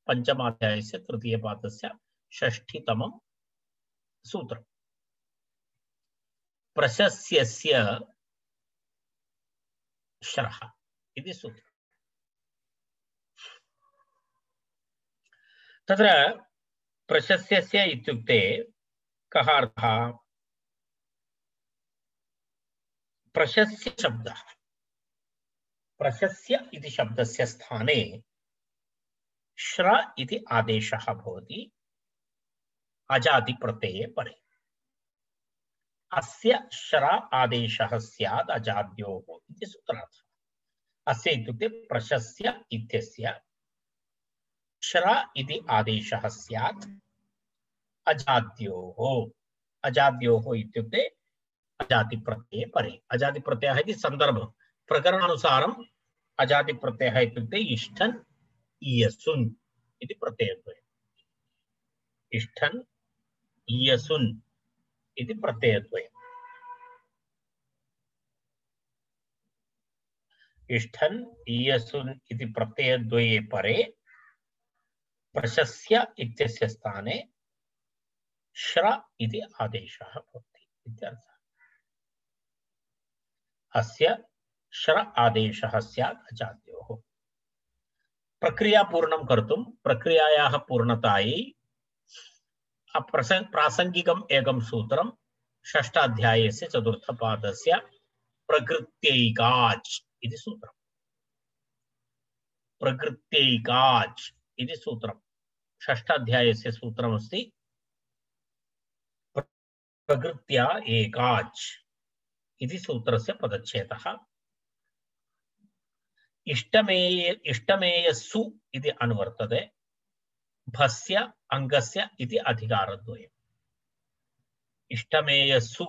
पञ्चमाध्यायस्य तृतीयपादस्य षष्ठीतमं सूत्रम्। प्रशस्यस्य श्रः इति सूत्रम्। तत्र प्रशस्यस्य इत्युक्ते कः अर्थः? प्रशस्य शब्दः प्रशस्य इति शब्दस्य स्थाने श्र इति आदेशः भवति अजाति प्रत्यये परे। अस्य श्र आदेशः स्यात् अजाद्योः इति सूत्रार्थः। अस्य इत्युक्ते प्रशस्य इत्यस्य श्र इति आदेशः स्यात् अजाद्योः। अजाद्योः इत्युक्ते अजाति प्रत्यये परे। अजाति प्रत्ययः इति सन्दर्भं प्रकरणानुसारम् अजाति प्रत्ययः इत्युक्ते इष्ठन् इयसुन् इति प्रत्ययद्वयम्। इष्ठन् इयसुन् इति प्रत्ययद्वयम्। इष्ठन् इयसुन् इति प्रत्ययद्वये परे प्रशस्य इत्यस्य स्थाने श्र इति आदेशः भवति इत्यर्थः। अस्य श्र आदेशः स्यात् अजाद्योः। प्रक्रिया पूर्णं कर्तुं प्रक्रियायाः पूर्णतायै प्रासंगिकम् एकं सूत्रं षष्ठाध्यायस्य चतुर्थपादस्य प्रकृत्यैकाच् इति सूत्रम्। प्रकृत्यैकाच् इति सूत्रं षष्ठाध्यायस्य सूत्रमस्ति प्रकृत्या एकाच् इति सूत्रस्य पदच्छेदः। इष्टमेय इष्टमेयस्सु इति अनुवर्तते, भस्य अङ्गस्य इति अधिकारद्वयम्। इष्टमेयस्सु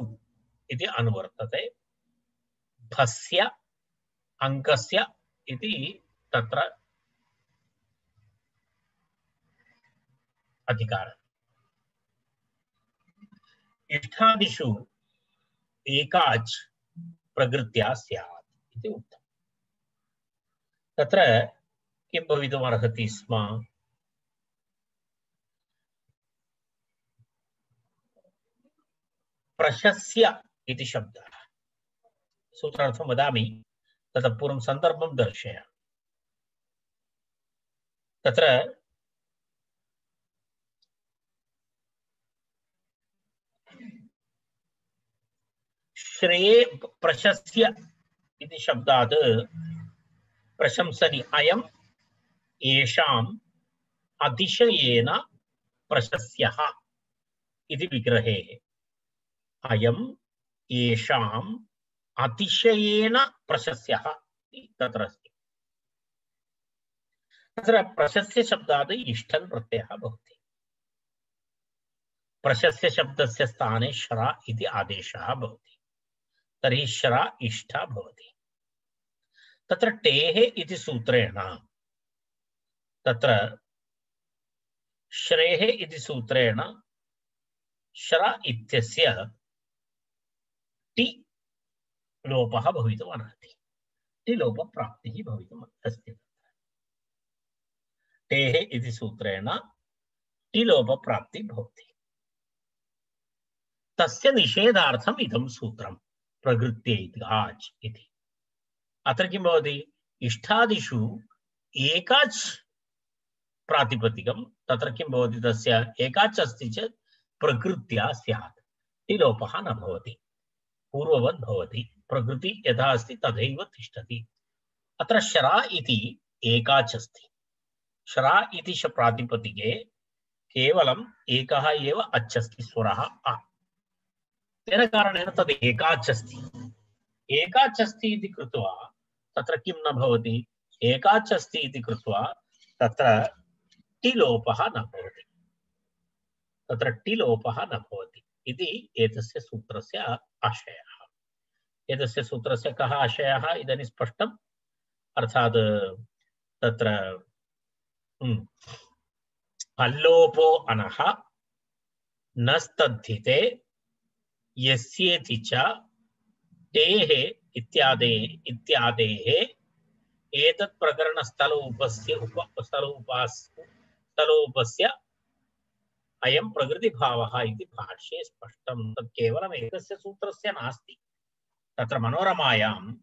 इति अनुवर्तते, भस्य अङ्गस्य इति तत्र अधिकारः। इष्टादिषु एकाच् प्रकृत्या स्यात् इति उक्तम्। तत्र किं भवितुमर्हति स्म? प्रशस्य इति शब्दः। सूत्रार्थं वदामि, ततः पूर्वं सन्दर्भं दर्शयामि। तत्र श्रेये प्रशस्य इति शब्दात् प्रशंसनि अयम् येषाम् अतिशयेन प्रशस्यः इति विग्रहे अयम् येषाम् अतिशयेन प्रशस्यः तत्र अस्ति। तत्र प्रशस्य शब्दात् इष्टन् प्रत्ययः भवति। प्रशस्य शब्दस्य स्थाने श्रा इति आदेशः भवति, तर्हि श्रा इष्टा भवति। तत्र टेः इति सूत्रेण तत्र श्रेः इति सूत्रेण श्रा इत्यस्य टि लोपः भवितुमर्हति। टि लोपप्राप्तिः भवितुम् अस्ति। टेः इति सूत्रेण टि लोपप्राप्तिः भवति। तस्य निषेधार्थम् इदं सूत्रं प्रकृत्यै एकाच् इति। अत्र किं भवति? इष्टादिषु एकाच् प्रातिपदिकं, तत्र किं भवति? तस्य एकाच् अस्ति चेत् प्रकृत्या स्यात्, टि लोपः न भवति, पूर्ववत् भवति। प्रकृति यथा अस्ति तथैव तिष्ठति। अत्र श्रा इति एकाच् अस्ति। श्रा इति प्रातिपदिके केवलम् एकः एव अच् अस्ति, स्वरः अ। तेन कारणेन तद् एकाच् अस्ति। एकाच् अस्ति इति कृत्वा तत्र किं न भवति? एकाच् अस्ति इति कृत्वा तत्र टि लोपः न भवति। तत्र टि लोपः न भवति इति एतस्य सूत्रस्य आशयः। एतस्य सूत्रस्य कः आशयः इदानीं स्पष्टम्? अर्थात् तत्र अल्लोपो अनः न स्तद्धिते यस्येति च टेः इत्यादे इत्यादेः एतत् प्रकरण स्थलोपस्य उप स्थलोपास् स्थलोपस्य अयं प्रकृतिभावः इति भाष्ये स्पष्टं। तत् केवलम् एकस्य सूत्रस्य नास्ति। तत्र मनोरमायां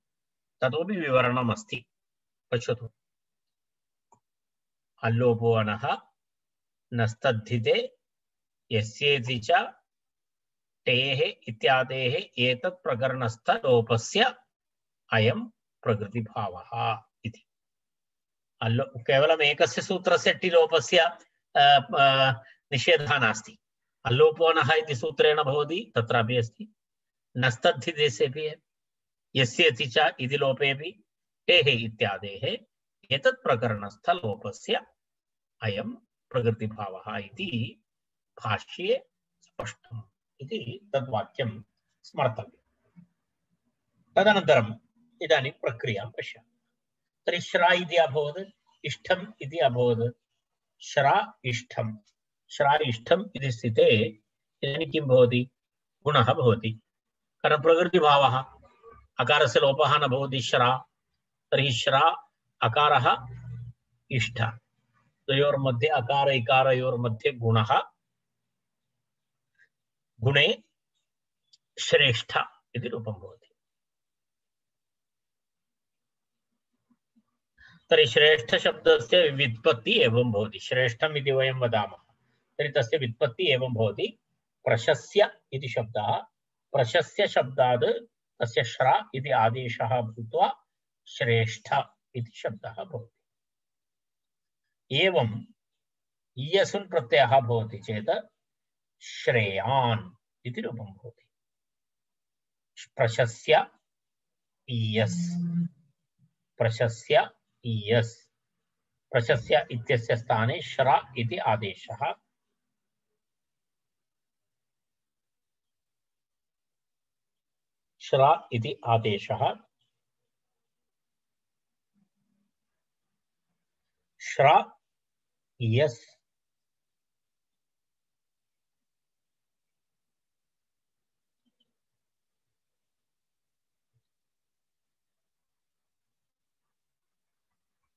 ततोपि विवरणम् अस्ति। पश्यतु। अल्लोपो अनः न स्तद्धिते यस्येति च टेः इत्यादेः एतत् प्रकरणस्थ लोपस्य अयं प्रकृतिभावः इति। अल्लो केवलम् एकस्य सूत्रस्य टि लोपस्य निषेधः नास्ति। अल्लोपोनः इति सूत्रेण भवति, तत्रापि अस्ति। नस्तद्धितेऽपि यस्येति च इति लोपेऽपि टेः इत्यादेः एतत् प्रकरणस्थ लोपस्य अयं प्रकृतिभावः इति भाष्ये स्पष्टम् इति तद्वाक्यं स्मर्तव्यम्। तदनन्तरम् इदानीं प्रक्रियां पश्यामः। तर्हि श्रा इति अभवत्, इष्टम् इति अभवत्। श्रा इष्टम्, श्रा इष्टम् इति स्थिते इदानीं किं भवति? गुणः भवति। कारण प्रकृतिभावः, अकारस्य लोपः न भवति श्रा। तर्हि श्रा अकारः इष्ट, द्वयोर्मध्ये अकार इकारयोर्मध्ये गुणः, गुणे श्रेष्ठ इति रूपं भवति। तर्हि श्रेष्ठ शब्दस्य व्युत्पत्ति एवं भवति। श्रेष्ठम् इति वयं वदामः, तर्हि तस्य व्युत्पत्ति एवं भवति। प्रशस्य इति शब्दः, प्रशस्य शब्दात् तस्य श्रा इति आदेशः भूत्वा श्रेष्ठ इति शब्दः भवति। एवं इयसुन् प्रत्ययः भवति चेत् श्रेयान् इति रूपं भवति। प्रशस्य इयस्, प्रशस्य इयस्, प्रशस्य इत्यस्य स्थाने श्र इति आदेशः। श्र इति आदेशः। श्र इयस्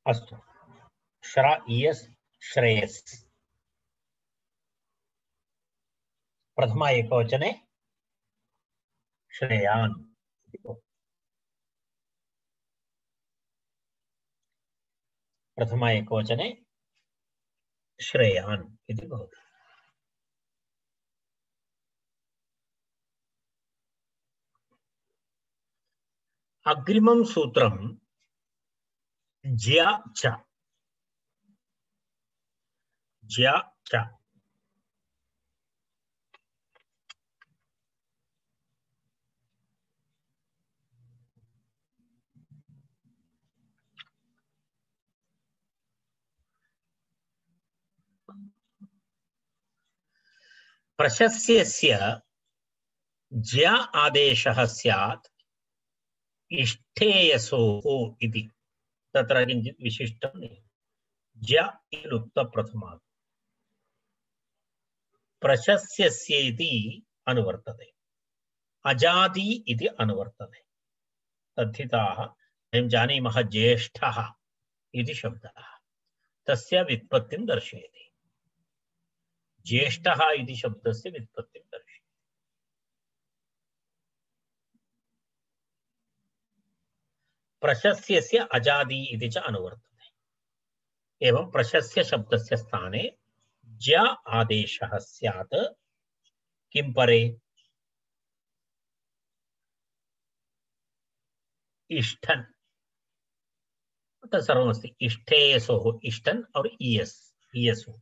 अस्तु। श्र इयस् श्रेयस्। प्रथमा एकवचने श्रेयान्। प्रथमा एकवचने श्रेयान् इति भवति। अग्रिमं सूत्रं ज्या च। ज्या च प्रशस्यस्य ज्या आदेशः स्यात् इष्ठेयसोः इति। तत्र किञ्चित् विशिष्टं ज्या इति लुप्तप्रथमात् प्रशस्यस्य इति अनुवर्तते, अजादि इति अनुवर्तते। तद्धिताः वयं जानीमः ज्येष्ठः इति शब्दः तस्य व्युत्पत्तिं दर्शयति। ज्येष्ठः इति शब्दस्य व्युत्पत्तिं दर्शयति। प्रशस्यस्य अजादि इति च अनुवर्तते। एवं प्रशस्य शब्दस्य स्थाने ज्या आदेशः स्यात् किं परे इष्ठन्। तत्सर्वमस्ति इष्ठेयसोः, इष्ठन् और इयस्, इयसु।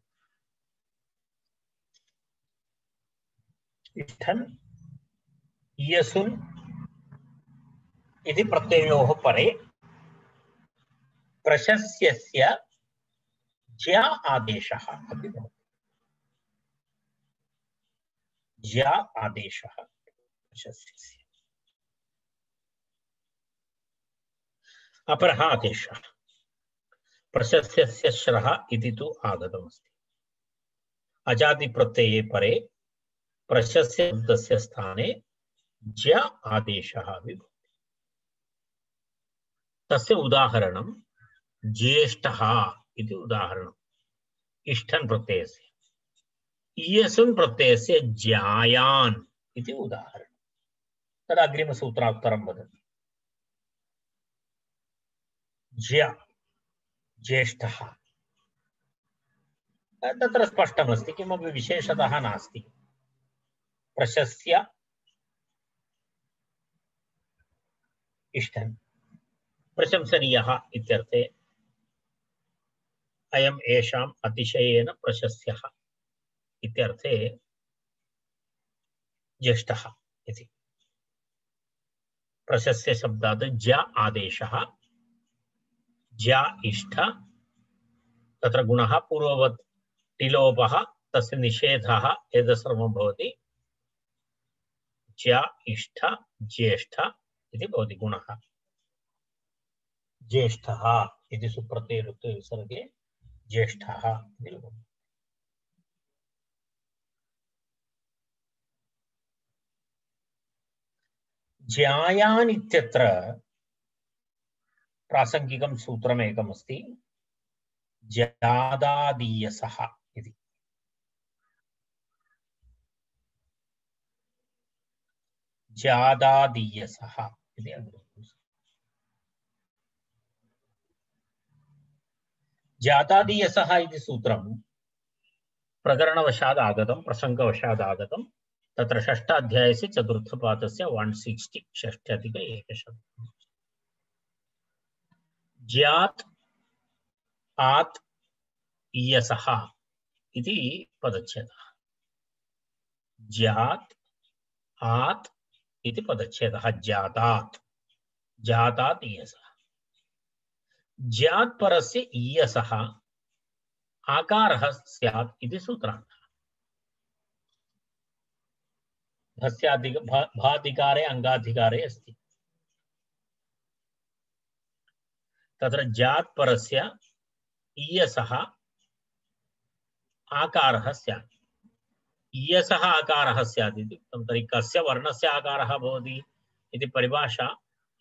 इष्ठन् इयसुन् इति प्रत्ययोः परे प्रशस्यस्य ज्या आदेशः अपि भवति। ज्या आदेशः प्रशस्यस्य। अपरः आदेशः प्रशस्यस्य श्रः इति तु आगतमस्ति। अजादि प्रत्यये परे प्रशस्य शब्दस्य स्थाने ज्या आदेशः अपि भवति। तस्य उदाहरणं ज्येष्ठः इति उदाहरणम्। इष्ठन् प्रत्ययस्य। इयसुन् प्रत्ययस्य ज्यायान् इति उदाहरणं। तद् अग्रिमसूत्रात्तरं वदति। ज्या ज्येष्ठः तत्र स्पष्टमस्ति, किमपि विशेषतः नास्ति। प्रशस्य इष्ठन् प्रशंसनीयः इत्यर्थे अयम् एषाम् अतिशयेन प्रशस्यः इत्यर्थे ज्येष्ठः इति। प्रशस्य शब्दात् ज्या आदेशः, ज्या इष्ठ, तत्र गुणः पूर्ववत् टिलोपः तस्य निषेधः एतत् सर्वं भवति। ज्या इष्ठ ज्येष्ठ इति भवति गुणः। ज्येष्ठः इति सुप्रत्यय ऋत्वे विसर्गे ज्येष्ठः इति भवति। ज्यायान् इत्यत्र प्रासंगिकं सूत्रमेकमस्ति, ज्यादादीयसः इति। ज्यादादीयसः इति अग्रिमं। ज्यादादीयसः इति सूत्रं प्रकरणवशात् आगतं, प्रसङ्गवशात् आगतं। तत्र षष्ठाध्यायस्य चतुर्थपादस्य वन सिक्स्टी षष्ट्यधिक एकशतं। ज्यात् आत् इयसः इति पदच्छेदः। ज्यात् आत् इति पदच्छेदः। जातात् जातात् ईयसः। ज्यात् परस्य ईयसः आकारः स्यात् इति सूत्रान्तः। भस्याधिक भाधिकारे अंगाधिकारे अस्ति। तत्र ज्यात् परस्य ईयसः आकारः स्यात्। ईयसः आकारः स्यात् इति उक्तं। तर्हि कस्य वर्णस्य आकारः भवति इति परिभाषा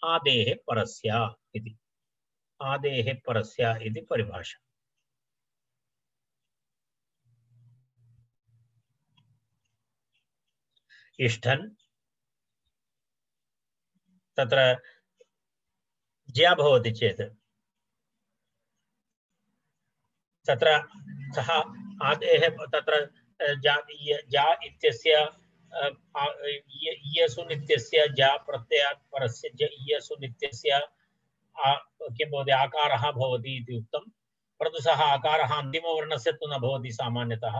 आदेः परस्य इति। आदेः परस्य इति परिभाषा। इष्ठन् तत्र ज्या भवति चेत् तत्र सः आदेः तत्र जा जा इत्यस्य ईयसुन् इत्यस्य जा प्रत्ययात् परस्य ज ईयसुन् इत्यस्य किं भवति आकारः भवति इति उक्तं। परन्तु सः आकारः अन्तिमवर्णस्य तु न भवति सामान्यतः।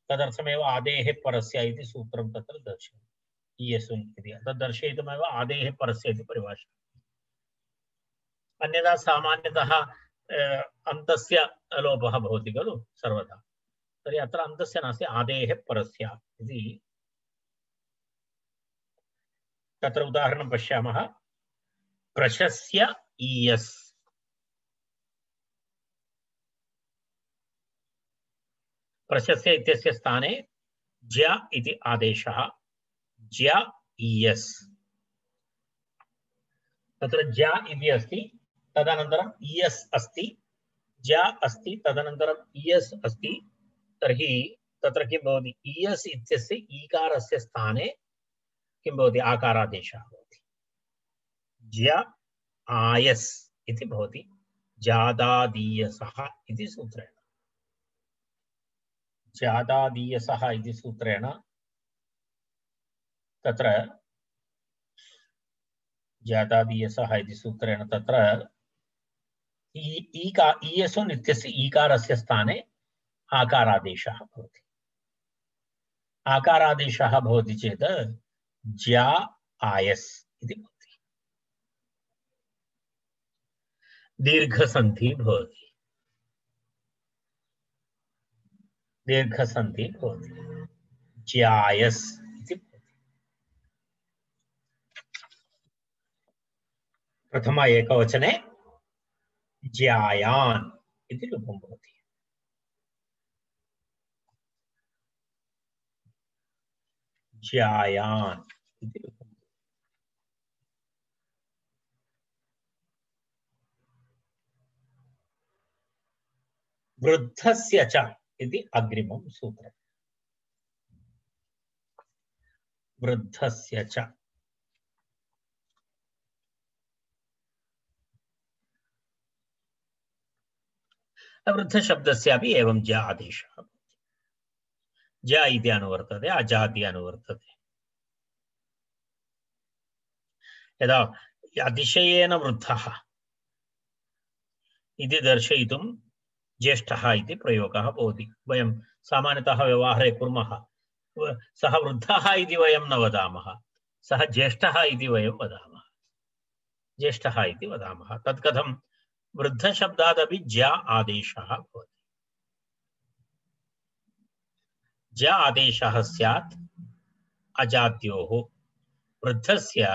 तदर्थमेव आदेः परस्य इति सूत्रं तत्र दर्शयति। ईयसुन् इति तद् दर्शयितुमेव आदेः परस्य इति परिभाषा। अन्यथा सामान्यतः अन्तस्य लोपः भवति खलु सर्वदा। तर्हि अत्र अन्तस्य नास्ति, आदेः परस्य इति। तत्र उदाहरणं पश्यामः। प्रशस्य ईयस्। प्रशस्य इत्यस्य स्थाने ज्य इति आदेशः। ज्य ईयस्। तत्र ज्य इति अस्ति, तदनन्तरम् ईयस् अस्ति, ज्य अस्ति, तदनन्तरम् ईयस् अस्ति। तर्हि तत्र किं भवति? ईयस् इत्यस्य ईकारस्य स्थाने किं भवति? आकारादेशः भवति। ज्य आयस् इति भवति। जादादीयसः इति सूत्रेण। जादादीयसः इति सूत्रेण तत्र जादादीयसः इति सूत्रेण तत्र ईका ईयसुन् इत्यस्य ईकारस्य स्थाने आकारादेशः भवति। आकारादेशः भवति चेत् ज्या आयस् इति भवति। दीर्घसन्धिः भवति। दीर्घसन्धिः भवति। ज्यायस् इति भवति। प्रथम एकवचने ज्यायान् इति रूपं भवति। ज्यायान् इति रूपं। वृद्धस्य च इति अग्रिमं सूत्रम्। वृद्धस्य च वृद्धशब्दस्यापि एवं ज्या आदेशः भवति। ज्या इति अनुवर्तते, अजा इति अनुवर्तते। यदा अतिशयेन वृद्धः इति दर्शयितुं ज्येष्ठः इति प्रयोगः भवति। वयं सामान्यतः व्यवहारे कुर्मः। सः वृद्धः इति वयं न वदामः, सः ज्येष्ठः इति वयं वदामः। ज्येष्ठः इति वदामः। तत् कथं? वृद्धशब्दादपि ज्या आदेशः भवति। ज्या आदेशः स्यात् अजाद्योः। वृद्धस्य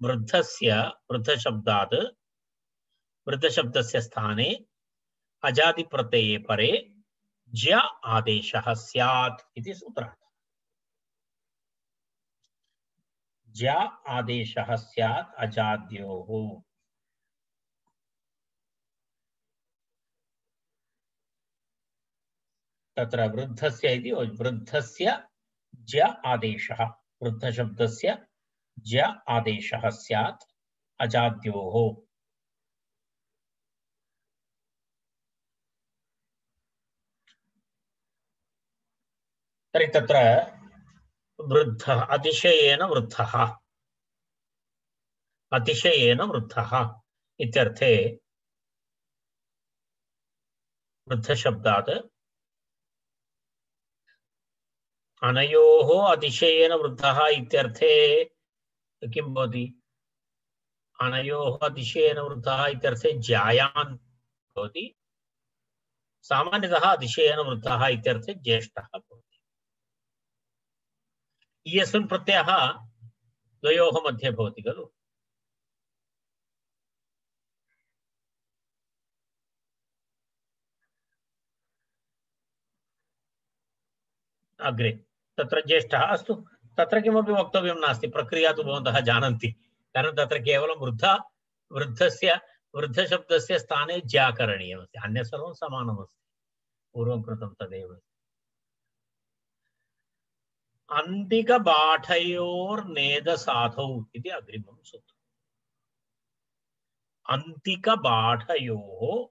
वृद्धस्य वृद्धशब्दात् वृद्धशब्दस्य स्थाने अजादि प्रत्यये परे ज्य आदेशः स्यात् इति सूत्रार्थः। ज्य आदेशः स्यात् अजाद्योः। तत्र वृद्धस्य इति वृद्धस्य ज्य आदेशः, वृद्धशब्दस्य ज्य आदेशः स्यात् अजाद्योः। तर्हि तत्र वृद्धः अतिशयेन वृद्धः अतिशयेन वृद्धः इत्यर्थे वृद्धशब्दात् अनयोः अतिशयेन वृद्धः इत्यर्थे किं भवति? अनयोः अतिशयेन वृद्धः इत्यर्थे जायान् भवति। सामान्यतः अतिशयेन वृद्धः इत्यर्थे ज्येष्ठः भवति। इयस्मिन् प्रत्ययः द्वयोः मध्ये भवति खलु। अग्रे तत्र ज्येष्ठः अस्तु, तत्र किमपि वक्तव्यं नास्ति, प्रक्रिया तु भवन्तः जानन्ति। कारणं तत्र केवलं वृद्ध वृद्धस्य वृद्धशब्दस्य स्थाने ज्या करणीयमस्ति, अन्यत् सर्वं समानमस्ति, पूर्वं कृतं तदेव। अन्तिकबाठयोर्नेदसाधौ इति अग्रिमं सूत्रम्। अन्तिकबाठयोः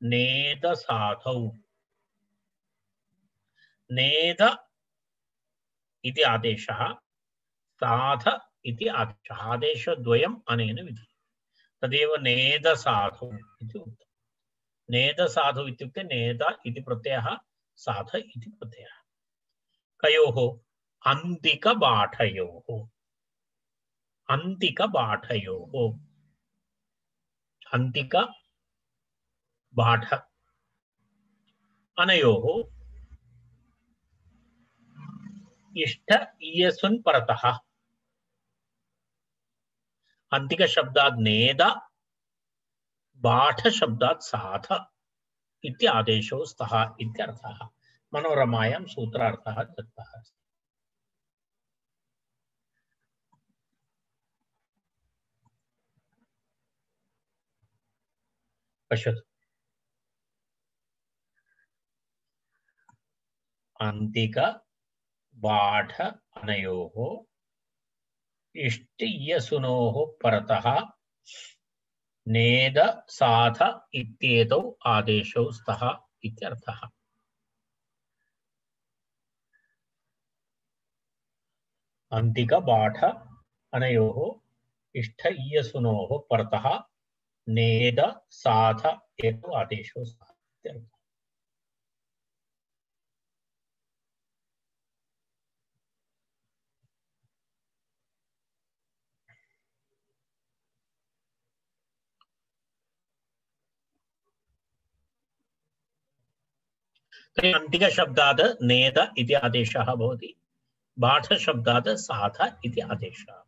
नेदसाधौ, नेद इति आदेशः, साध इति आदेशः, आदेशद्वयम् अनेन विधीयते, तदेव नेदसाधौ इति उक्तम्। नेदसाधौ इत्युक्ते नेद इति प्रत्ययः, साध इति प्रत्ययः। कयोः? अन्तिकबाठयोः, अन्तिकबाठयोः, अन्तिकबाठ अनयोः इष्ट इयसुन् परतः, अन्तिक शब्दात् नेद, बाठ शब्दात् साध इति आदेशो स्तः इत्यर्थः। मनोरमायां सूत्रार्थः दत्तः अस्ति। पश्यतु, अन्तिक बाठ अनयोः इष्ट इयसुनोः परतः नेद साध इत्येतौ आदेशौ स्तः इत्यर्थः। अन्तिक बाठ अनयोः इष्ट इयसुनोः परतः नेद साध एतौ आदेशौ स्तः इत्यर्थः। अन्तिक शब्दात् नेद इति आदेशः भवति, बाठ शब्दात् साध इति आदेशः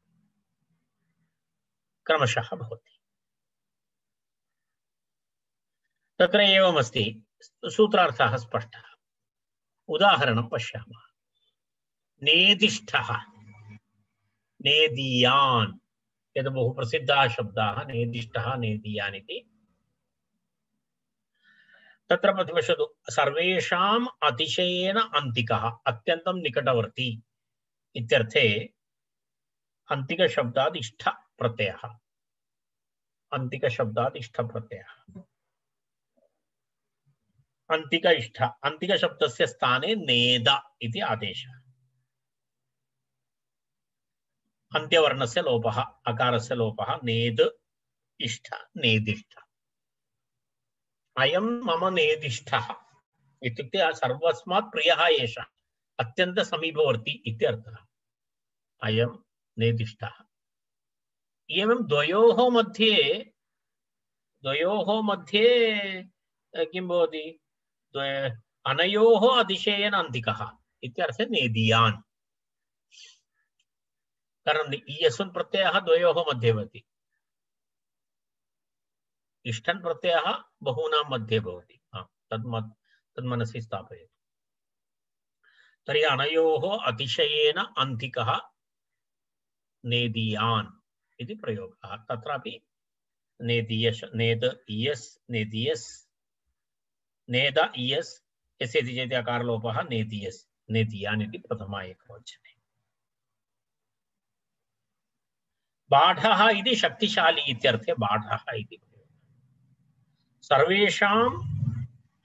क्रमशः भवति। तत्र एवमस्ति, सूत्रार्थः स्पष्टः। उदाहरणं पश्यामः। नेदिष्ठः, नेदीयान्, यद् बहु प्रसिद्धाः शब्दाः, नेदिष्ठः नेदीयान् इति। तत्र पश्यतु, सर्वेषाम् अतिशयेन अन्तिकः, अत्यन्तं निकटवर्ती इत्यर्थे अन्तिक शब्दात् इष्ठ प्रत्ययः, अन्तिक शब्दात् इष्ठ प्रत्ययः, अन्तिक इष्ठ, अन्तिक शब्दस्य स्थाने नेद इति आदेशः। अन्त्यवर्णस्य लोपः, अकारस्य लोपः, नेद इष्ठ नेदिष्ठ। अयं मम नेदिष्ठः इत्युक्ते सर्वस्मात् प्रियः एषः, अत्यन्त समीपवर्ती इत्यर्थः। अयं नेदिष्ठः। एवं द्वयोः मध्ये द्वयोः मध्ये किं भवति? अनयोः अतिशयेन अन्तिकः इत्यर्थे नेदीयान्। कारणम् इयसुन् प्रत्ययः द्वयोः मध्ये भवति, इष्टन् प्रत्ययः बहूनां मध्ये भवति। तद् तन्मनसि स्थापयतु। तर्हि अनयोः अतिशयेन अन्तिकः नेदीयान् इति प्रयोगः। तत्रापि नेदीयस्, नेद इयस्, नेदीयस्, नेद इयस्, यस्य इति चेत् अकारलोपः, नेदीयस् नेदीयान् इति प्रथमा एकवचने। बाढः इति शक्तिशाली इत्यर्थे बाढः इति प्रयोगः। सर्वेषाम्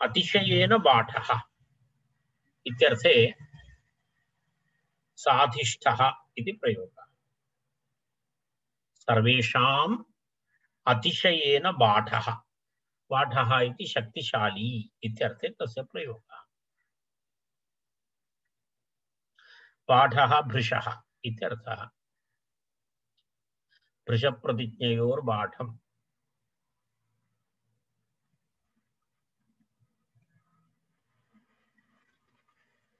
अतिशयेन बाढः इत्यर्थे साधिष्ठः इति प्रयोगः। सर्वेषाम् अतिशयेन बाढः, बाढः इति शक्तिशाली इत्यर्थे तस्य प्रयोगः। पाठः भृशः इत्यर्थः। भृशप्रतिज्ञयोर्बाढम्।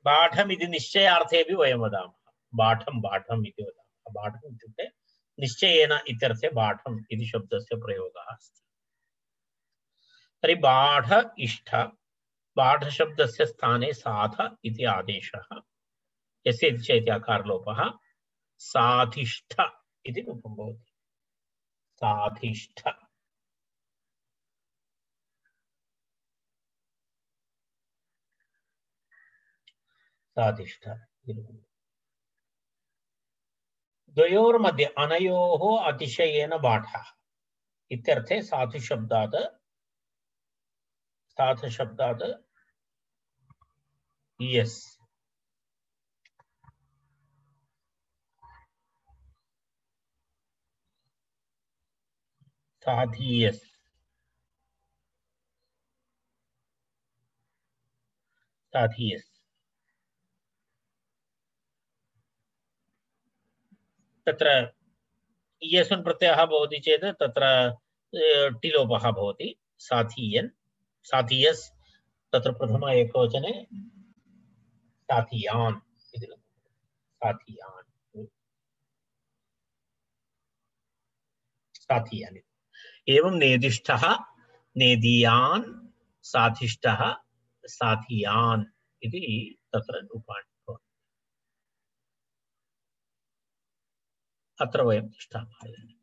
बाढम् इति निश्चयार्थेऽपि वयं वदामः। बाढं बाढम् इति वदामः। बाढम् इत्युक्ते निश्चयेन इत्यर्थे बाढम् इति शब्दस्य प्रयोगः अस्ति। तर्हि बाढ इष्ट, बाढशब्दस्य स्थाने साध इति आदेशः, यस्य इति चेत् आकारलोपः, साधिष्ठ इति रूपं भवति। साधिष्ठ। साधिष्ठ द्वयोर्मध्ये अनयोः अतिशयेन बाढः इत्यर्थे साधुशब्दात् साधुशब्दात् यस् साधीयस् साधीयस् तत्र इयस्मिन् प्रत्ययः भवति चेत् तत्र टिलोपः भवति। साधीयन् साधीयस् तत्र प्रथम एकवचने साधीयान् इति साधीयान् साधीयान्। एवं नेदिष्ठः नेदीयान् साधिष्ठः साधीयान् इति तत्र रूपाणि भवन्ति। अत्र वयं तिष्ठामः।